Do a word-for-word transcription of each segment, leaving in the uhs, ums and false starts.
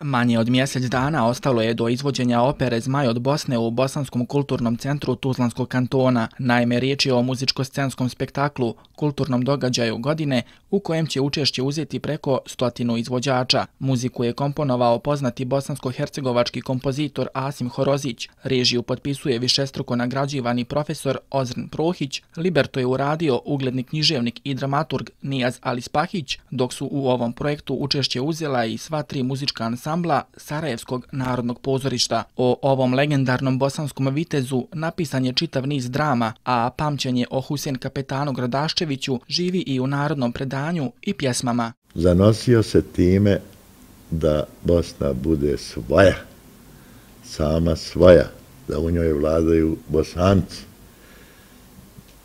Manje od mjesec dana ostalo je do izvođenja opere Zmaj od Bosne u Bosanskom kulturnom centru Tuzlanskog kantona. Naime, riječ je o muzičko-scenskom spektaklu, kulturnom događaju godine, u kojem će učešće uzeti preko stotinu izvođača. Muziku je komponovao poznati bosansko-hercegovački kompozitor Asim Horozić, režiju potpisuje višestruko nagrađivani profesor Ozren Prohić, libreto je uradio ugledni književnik i dramaturg Nijaz Alispahić, dok su u ovom projektu učešće uzela i sva tri muzička ansambla Sarajevskog narodnog pozorišta. O ovom legendarnom bosanskom vitezu napisan je čitav niz drama, a pamćenje o Husein Kapetanu Gradaščeviću živi i u narodnom predanju i pjesmama. Zanosio se time da Bosna bude svoja, sama svoja, da u njoj vladaju Bosanci.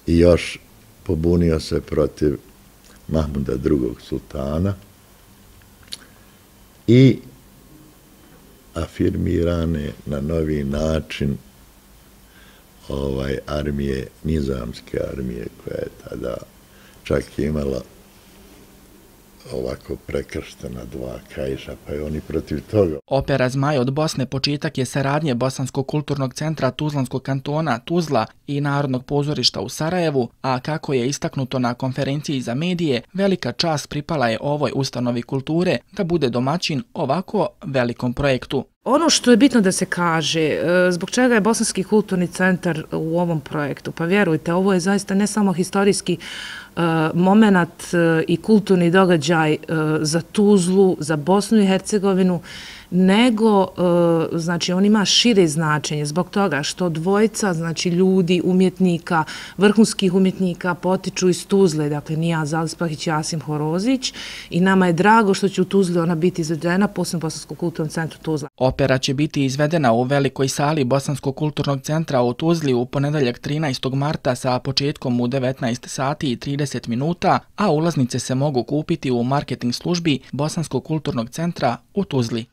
I još pobunio se protiv Mahmuda drugog sultana i afirmirane na novi način ovaj armije, nizamske armije, koja je tada čak imala ovako prekrštena dva kaiša, pa je oni protiv toga. Opera Zmaj od Bosne početak je saradnje Bosanskog kulturnog centra Tuzlanskog kantona Tuzla i Narodnog pozorišta u Sarajevu, a kako je istaknuto na konferenciji za medije, velika čast pripala je ovoj ustanovi kulture da bude domaćin ovako velikom projektu. Ono što je bitno da se kaže, zbog čega je Bosanski kulturni centar u ovom projektu, pa vjerujte, ovo je zaista ne samo historijski moment i kulturni događaj za Tuzlu, za Bosnu i Hercegovinu, nego znači on ima šire značenje zbog toga što dvojica znači ljudi, umjetnika, vrhunskih umjetnika potiču iz Tuzle, dakle Nijaz Alispahić i Asim Horozić, i nama je drago što će u Tuzli ona biti izvedena, posebno Bosanskom kulturnom centru Tuzla. Opera će biti izvedena u velikoj sali Bosanskog kulturnog centra u Tuzli u ponedeljak trinaestog marta sa početkom u devetnaest sati i trideset minuta, a ulaznice se mogu kupiti u marketing službi Bosanskog kulturnog centra u Tuzli.